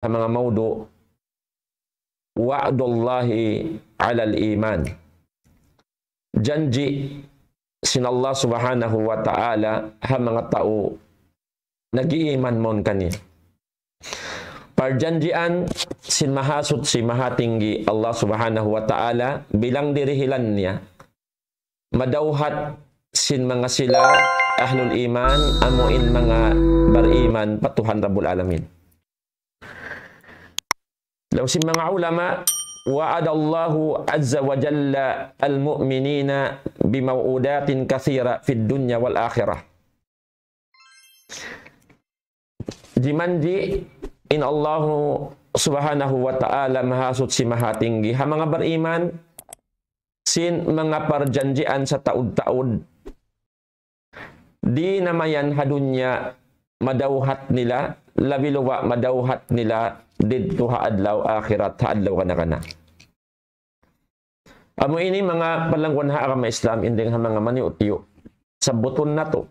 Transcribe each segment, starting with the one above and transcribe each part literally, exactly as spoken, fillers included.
ha manga mawdu', وعد الله على الإيمان. Janji' sin Allah Subhanahu wa Ta'ala ha manga tau nag-iiman mawn kaniya. Parjanjian sin Mahasuchi Mahatinggi Allah Subhanahu wa Ta'ala, bilang dirihilan niya, madawhat sin manga sila ahlul iman, amu in manga bariman pa Tuhan Rabbul Alamin. Laung sin manga ulama, وعد الله عز وجل المؤمنين بموعودات كثيرة في الدنيا والآخرة. Jimanji' in Allahu Subhanahu wa Ta'ala Mahasuchi Mahatinggi ha manga bariman sin manga parjanjian sataud-taud. Di' na mayan ha dunya madawhat nila, labi luba' madawhat nila didtu ha adlaw akhirat, ha adlaw kana-kana. Amu ini manga palangguan ha agama Islam, in dayng ha manga maniyu'-tiyu'. Sabbutun natu'.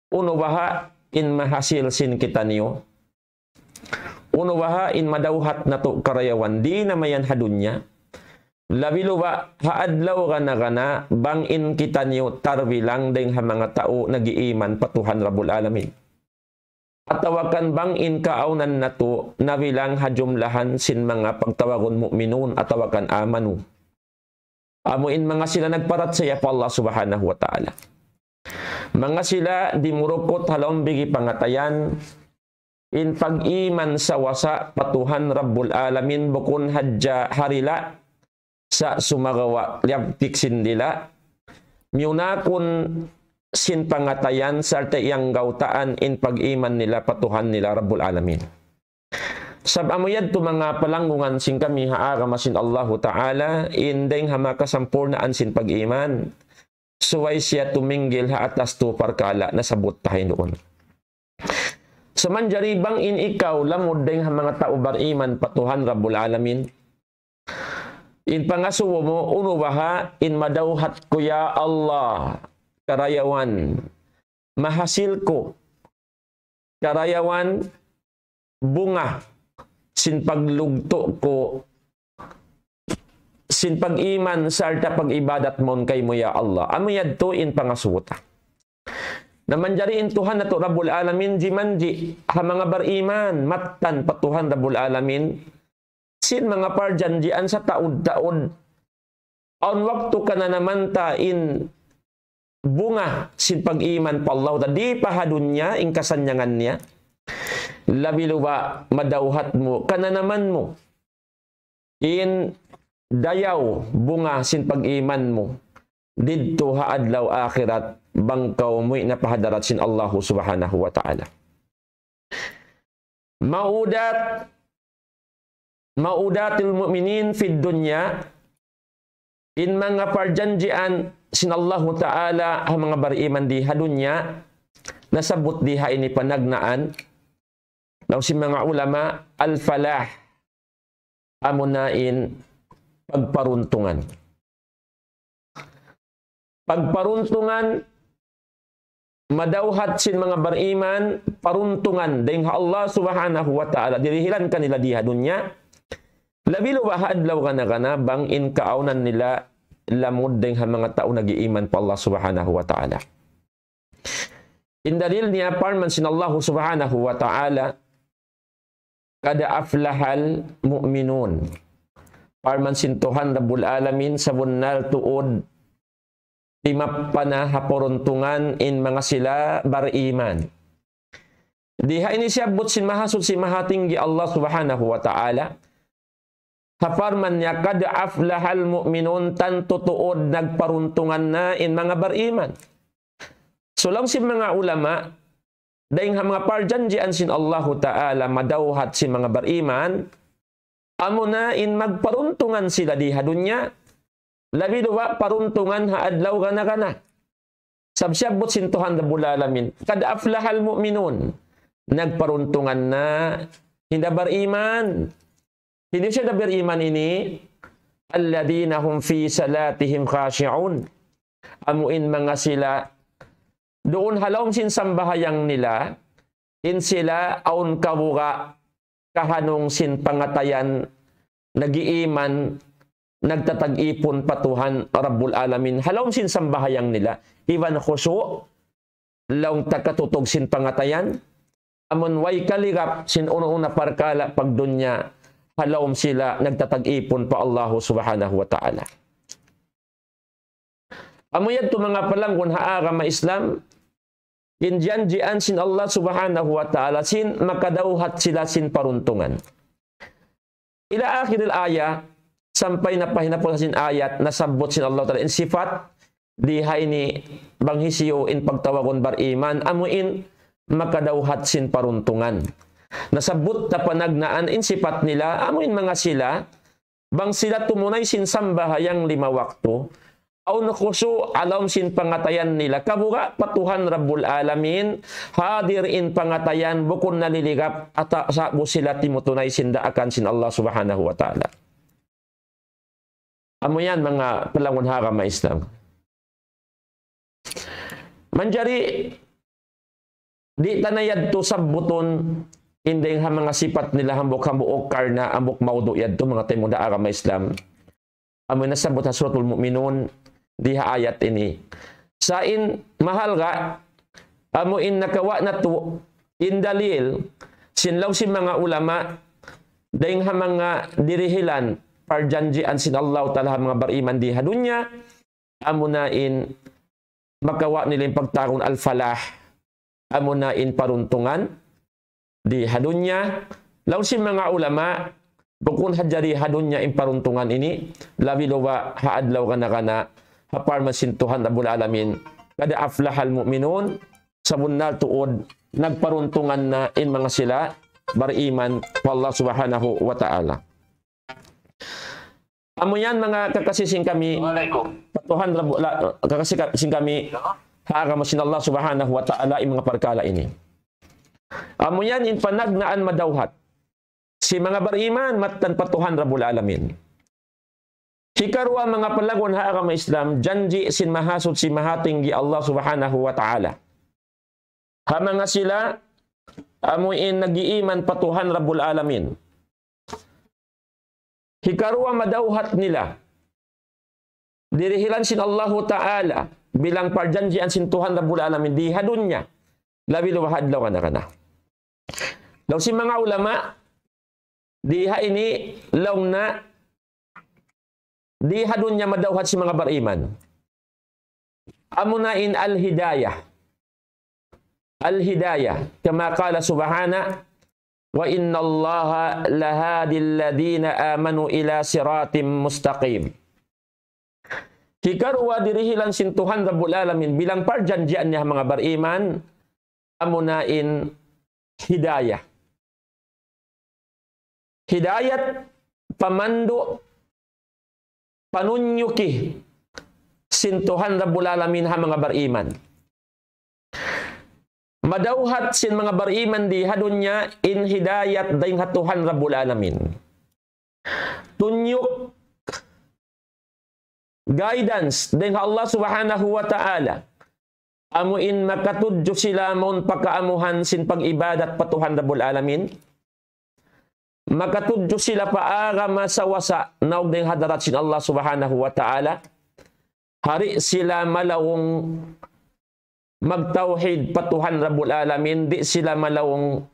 Unu baha' in mahasil sin kitaniyu? Unu baha' in madawhat natu' karayawan di' na mayan ha dunya? Labi luba' ha adlaw kana-kana bang in kitaniyu tarbilang dayng ha manga tau nag-iiman pa Tuhan Rabbul Alamin. Atawa kan bang in kaawnan natu' nabilang ha jumlahan sin manga pagtawagun mu'minun atawa kan amanu. Amu in manga sila nagparachaya pa Allah Subhanahu wa Ta'ala. Manga sila dimurukut ha lawm bigi pangatayan, in pag-iman sawasa pa Tuhan Rabbul Alamin bukun hadja ha dila' sa' sumagawa' liyagtik sin dila', miyunakun sin pangatayan sarta' iyanggawtaan in pag-iman nila pa Tuhan nila Rabbul Alamin. Sab amu yadtu manga palanggungan sin kami ha agama sin Allahu Ta'ala, in dayng ha makasampurnaan sin pag-iman, subay siya tuminggil ha atas tu parkala' nasabbut ta ha ini duun. Sa' manjari bang in ikaw lamud dayng ha manga tau bariman pa Tuhan Rabbul Alamin, in pangasubu mu, unu baha' in madawhat ku ya Allah karayawan, mahasil ku karayawan bunga sin paglugtu' ku sin pag-iman sarta' pag-ibadat mawn kaymu ya Allah. Amu yadtu in pangasubu ta. Na manjari in Tuhan natu' Rabbul Alamin jimanji' ha manga bariman mattan pa Tuhan Rabbul Alamin sin manga parjanjian sataud-taud. Awn waktu kananaman ta in bunga sin pag-iman pa Allah ta di' pa ha dunya in kasannyangan niya. Labi luba' madawhat mu, kananaman mu in dayaw bunga sin pag-iman mu didtu ha adlaw akhirat bang kaw muwi' na pa hadarat sin Allahu Subhanahu wa Ta'ala. Maudat, maudatil mu'minin fid dunya, in manga parjanjian sin Allahu Ta'ala ha manga bariman di ha dunya, nasabbut di ha ini panagnaan, laung sin manga ulama, al-falah, amuna in pagparuntungan. Pagparuntungan, madawhat sin manga bariman, paruntungan dayng ha Allah Subhanahu wa Ta'ala, dirihilan kanila di ha dunya. Labi luba' ha adlaw kana-kana, bang in kaawnan nila lamud dayng ha manga tau nag-iiman pa Allah Subhanahu wa Ta'ala. In dalil niya parman sin Allah Subhanahu wa Ta'ala, قد أفلح المؤمنون. Parman sin Tuhan Rabbul Alamin, sabunnal tuud timappa na ha paruntungan in manga sila bariman. Di ha ini siyabbut sin Mahasuchi Mahatinggi Allah Subhanahu wa Ta'ala, ha parman niya, قد أفلح المؤمنون, tantu tuud nagparuntungan na in manga bariman. So, laung sin manga ulama, dayng ha manga parjanjian sin Allahu Ta'ala madawhat sin manga bariman, amuna in magparuntungan sila di ha dunya, labi luba' paruntungan ha adlaw kana-kana. Sab siyabbut sin Tuhan Rabbul Alamin, قد أفلح المؤمنون. Nagparuntungan na in bariman. Hisiyu in bariman ini? الذين هم في صلاتهم خاشعون. Amu in manga sila duun ha lawm sin sambahayang nila, in sila awn kabuga' kahanung sin pangatayan, nag-iiman, nagtatag-ipun pa Tuhan Rabbul Alamin. Ha lawm sin sambahayang nila, iban khushu', laung ta katutug sin pangatayan, amun way kaligap sin unu-unu na parkala' pagdunya, ha lawm sila nagtatag-ipun pa Allahu Subhanahu wa Ta'ala. Amu yadtu manga palanggun ha agama Islam, in janjian sin Allah Subhanahu wa Ta'ala, sin makadawhat sila sin paruntungan. Ila akhiril ayah, sampay na pa hinapus sin ayat, nasabbut sin Allah Ta'ala in sipat, di ha ini bang hisiyu in pagtawagun bariman, amu in makadawhat sin paruntungan. Nasabbut ta panagnaan in sipat nila, amu in manga sila, bang sila tumunay sin sambahayang lima waktu, awn khushu' ha lawm sin pangatayan nila, kabuga' pa Tuhan Rabbul Alamin, hadir in pangatayan, bukun naliligap, ata sa' bu sila timutunay sin daakan sin Allah Subhanahu wa Ta'ala. Amu yan, manga palanggun ha agama Islam. Manjari, di' ta na yadtu sabbutun in dayng ha manga sipat nila hambuuk-hambuuk karna' hambuuk mawdu' yadtu, manga taymanghud ha agama Islam. Amu in nasabbut ha Suratul Mu'minun, di ha ayat ini. Sa' in mahalga', amu in nakawa' natu', in dalil, sin laung sin manga ulama, dayng ha manga dirihilan, parjanjian sin Allah Ta'ala ha manga bariman di ha dunya, amuna in makawa' nila in pagtawagun al-falah, amuna in paruntungan di ha dunya. Laung sin manga ulama, bukun hadja di ha dunya in paruntungan ini, labi luba ha adlaw gana-gana, ha parman sin Tuhan Rabbul Alamin, "Qad aflahal mu'minun," sabunnal tuud, nagparuntungan na in manga sila bariman pa Allah Subhanahu wa Ta'ala. Amu yan manga kakasi sin kami, Assalamualaikum. Pa Tuhan Rabbu-, la-, kakasi ka-, sin kami, ha agama sin Allah Subhanahu wa Ta'ala in manga parkala' ini. Amu yan in panagnaan madawhat sin manga bariman mattan pa Tuhan Rabbul Alamin. Hikaruwa manga palanggun ha agama Islam, janji' sin Mahasuchi Mahatinggi Allah Subhanahu wa Ta'ala ha manga sila amu in nag-iiman pa Tuhan Rabbul Alamin. Hikaruwa madawhat nila. Dirihilan sin Allahu Ta'ala bilang parjanjian sin Tuhan Rabbul Alamin di ha dunya. Labi luba ha adlaw gana-gana. Laung sin manga ulama, di ha ini laung na di ha dunya madawhat sin manga bariman. Amuna in al-hidayah. Al-hidayah. Kama qala subhanahu, "Wa inna Allaha lahadi alladhina amanu ila siratim mustaqim." Hikaruwa dirihilan sin Tuhan Rabbul Alamin bilang parjanjian niya ha manga bariman, amuna in hidayah. Hidayat, pamandu', panunyuki sin Tuhan Rabbul Alamin ha manga bariman. Madawhat sin manga bariman di ha dunya in hidayat dayng ha Tuhan Rabbul Alamin. Tunyuk, guidance dayng ha Allah Subhanahu wa Ta'ala. Amu in makatudju sila mawn pa kaamuhan sin pag-ibadat pa Tuhan Rabbul Alamin. Makatudju sila pa agama sawasa naug dayng ha hadarat sin Allah Subhanahu wa Ta'ala. Di' sila malaung magtawhid pa Tuhan Rabbul Alamin, di' sila malaung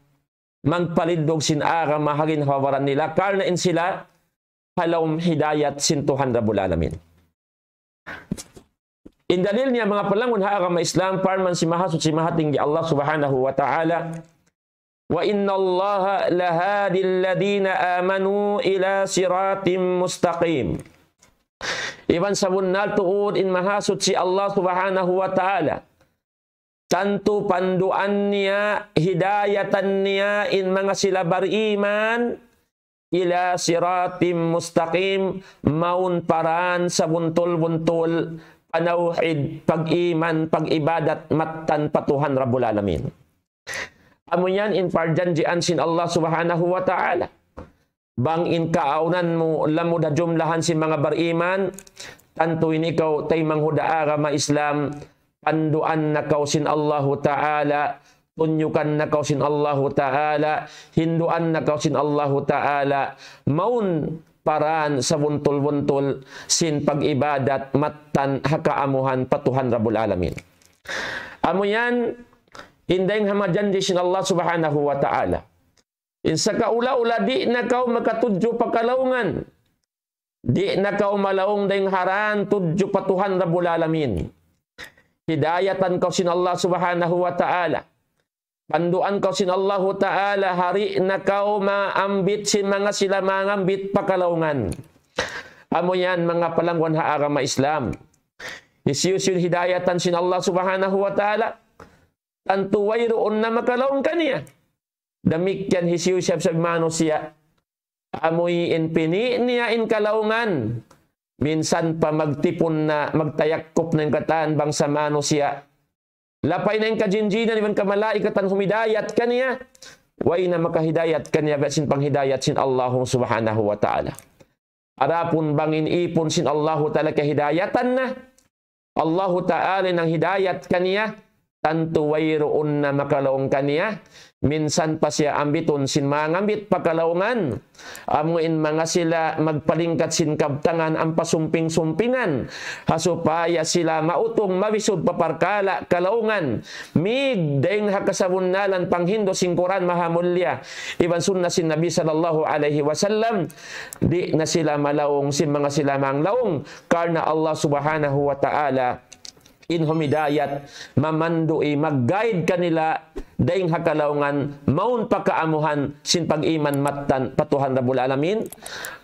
magpalindug sin agama ha ginhawa-baran nila, karna' in sila ha lawm hidayat sin Tuhan Rabbul Alamin. In dalil niya manga palanggun ha agama Islam, parman sin Mahasuchi Mahatinggi Allah Subhanahu wa Ta'ala, "Wa inna Allaha lahadi alladhina amanu ila siratim mustaqim." Iban sabunnal tuud in Mahasuchi Allah Subhanahu wa Ta'ala, tantu panduan niya, hidayatan niya in manga sila bariman, ila siratim mustaqim, mawn pa dan sabuntul-buntul, panawhid, pag-iman, pag-ibadat, mattan pa Tuhan Rabbul Alamin. Amu yan in parjanjian sin Allah Subhanahu wa Ta'ala. Bang in kaawnan mu lamud ha jumlahan sin manga bariman, tantu in ikaw taymanghud ha agama Islam, panduan na kaw sin Allahu Ta'ala, tunyukan na kaw sin Allahu Ta'ala, hinduan na kaw sin Allahu Ta'ala, mawn pa dān sabuntul-buntul sin pag-ibadat mattan ha kaamuhan pa Tuhan Rabbul Alamin. Amu yan, in dayng ha manga janji' sin Allah Subhanahu wa Ta'ala. In sakaula-ula di' na kaw makatudju pa kalaungan. Di' na kaw malaung dayng ha dān tudju pa Tuhan Rabbul Alamin. Hidayatan kaw sin Allah Subhanahu wa Ta'ala. Panduan kaw sin Allahu Ta'ala, di' na kaw maambit sin manga sila mangambit pa kalaungan. Amu yan manga palangguan ha agama Islam. Hisiyu-siyu in hidayatan sin Allah Subhanahu wa Ta'ala, tantu wayruun na makalaung kaniya. Damikkiyan hisiyu-siyu manusiya'. Amuin pini' niya in kalaungan. Minsan pa magtipun na, magtayakkup na in katān bangsa manusiya'. Lapay na in kajinjinan iban kamalaikatan humidayat kaniya. Way na makahidayat kaniya biya' sin panghidayat sin Allahu Subhanahu wa Ta'ala. Adapun bang in īpun sin Allahu Ta'ala kahidayatan na, Allahu Ta'ala in nanghidayat kaniya, tantu wayruun na makalaung kaniya, minsan pa siya ambitun sin mangambit pa kalaungan, amuin manga sila magpalingkat sin kabtangan ampa sumping-sumpingan, ha supaya sila mautung mawisud pa parkala' kalaungan, mig dayng ha kasabunnalan panghindu' sin Qur'an Mahamulliya, iban sunna sin Nabi sallallahu alayhi wasallam, di' na sila malaung sin manga sila manglaung, karna' Allah Subhanahu wa Ta'ala in humidayat, mamandu'i, mag-guide kanila, dayng ha kalaungan, mawn pa kaamuhan, sin pag-iman mattan pa Tuhan Rabbul Alamin,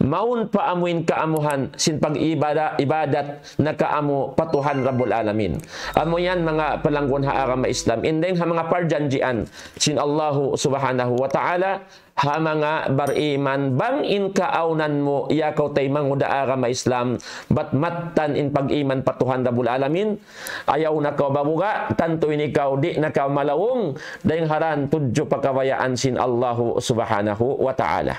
mawn pa amuin kaamuhan, sin pag-ibada-, ibadat, na kaamu pa Tuhan Rabbul Alamin. Amu yan manga palangguan ha agama Islam. In dayng ha manga parjanjian sin Allahu Subhanahu wa Ta'ala, ha manga bariman, bang in kaawnan mu, ya kaw taymanghud ha agama Islam, bat mattan in pag-iman pa Tuhan Rabbul Alamin, ayaw na kaw babuga', tantu in ikaw di' na kaw malaung, dayng ha dān tudju pa kabayaan sin Allahu Subhanahu wa Ta'ala.